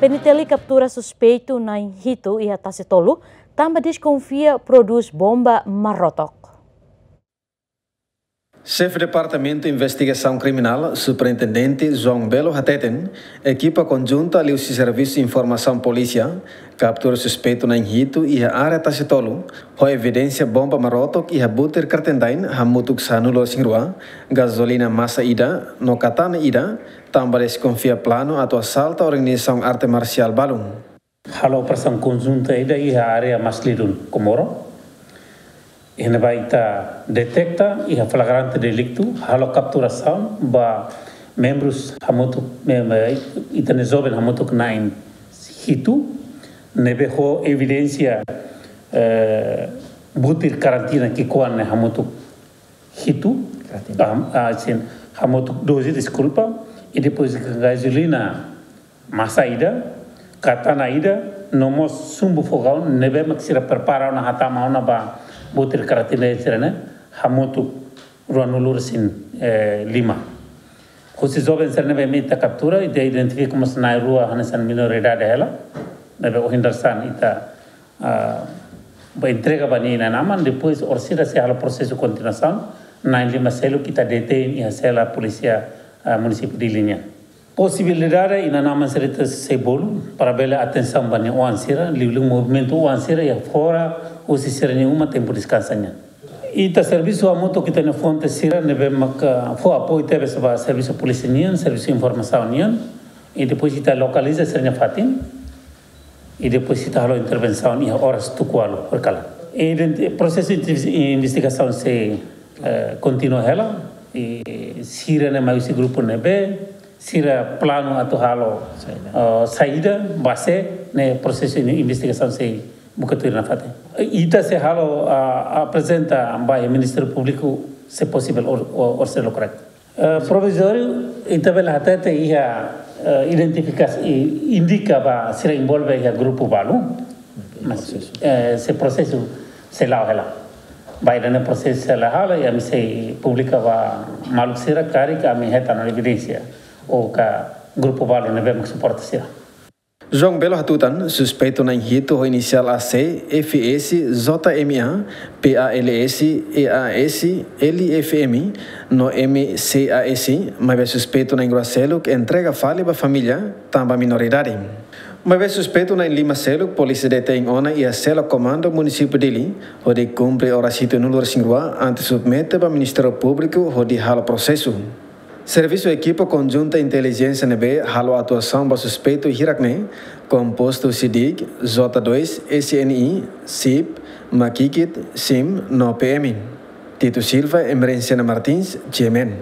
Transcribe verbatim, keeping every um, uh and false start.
N T L kaptura suspeitu na'in hitu iha Tasi Tolu, tanba deskonfia prodús bomba marotok. Xefe Departamentu Investigasaun Kriminál, Superintendente João Belo hateten, ekipa konjunta liuhusi Servisu Informasaun Polísia kaptura suspeitu na'in hitu iha área Tasi Tolu, ho evidénsia bomba marotok iha butir kartendai hamutuk sanulu-resin-rua, gazolina masa ida, no katana ida, tanba deskonfia planu atu asalta organizasaun arte marsiál balun. Halo operasaun konjunta ida iha área Maslidun, Comoro. Iha ne'ebá ita deteta iha flagrante deliktu, halo kapturasaun ba membrus hamutuk, mem-, ita-nia joven hamutuk na'in hitu, ne'ebé ho evidénsia, eh, butir karantina ki'ikoan ne'e hamutuk hitu. Karantina. Ah, ah, sin, hamutuk doze, deskulpa, i depois gazolina masa ida, katana ida, no mós sumbu fogaun ne'ebé mak sira prepara ona hatama ona ba butir karantina sira-ne'e, hamutuk ruanulu-resin, eh, lima. Husi joven sira ne'ebé ita kaptura, ita identifika mós na'in-rua hanesan minoridade hela, ne'ebé ohin dadeer-saan ita, ah, ba entrega ba nia inan-aman, depois orsida sei halo prosesu kontinuasaun, na'in-lima seluk ita detein iha sela polísia, ah, munisípiu Dili nian. Posibilidade inan-aman sira ita sei bolu, para bele atensaun ba nia oan sira, liuliu movimentu oan sira iha fora husi sira-nia uma tempu deskansa nian. Ita servisu hamutuk ho ita-nia fonte sira ne'ebé maka fó apoiu tebes ba servisu polísia nian, servisu informasaun nian, i depois ita lokaliza sira-nia fatin, i depois ita halo intervensaun iha oras tuku ualu horikalan. Identi-, prosesu inti-, investigasaun sei, eh, kontinua hela, i sira-ne'e mai husi grupu ne'ebé, sira planu atu halo, saida, eh, saida, base ne'e prosesu ini investigasaun sei buka tuir nafatin. Ita sei halo, ah, aprezenta ba Ministériu Públiku se posivel or, or, oras sei lokraik. Eh, provizóriu, ita bele hatete iha, eh, identifikas-, i-, indika ba sira envolve iha grupu balu. Mas, prosesu, eh, se prosesu sei la'o hela. Ba ida-ne'e prosesu sei la'o hela, i ami sei publika ba maluk sira karik ami hetan evidénsia ou ka grupu balu ne'ebé mak suporta sira. João Belo hatutan, suspeitu na'in hitu ho inisiál A C, F S, J M A, P A L S, E A S, L F M, no M C A S, maibé suspeitu na'in-rua seluk entrega fali ba família, tanba minoridade. Maibé suspeitu na'in-lima seluk, polísia detein ona iha sela komandu munisípiu Dili, hodi kumpre oras hitunulu-resin-rua, antes submete ba Ministériu Públiku, hodi halo prosesu. Servisu ekipa konjunta intelijénsia ne'ebé halo atuasaun ba suspeitu hirak-ne'e, kompostu husi DIK, J dois, S N I, SIP, Makikit, SIM, no P M. Tito Silva, Emerenciana Martins, G M N.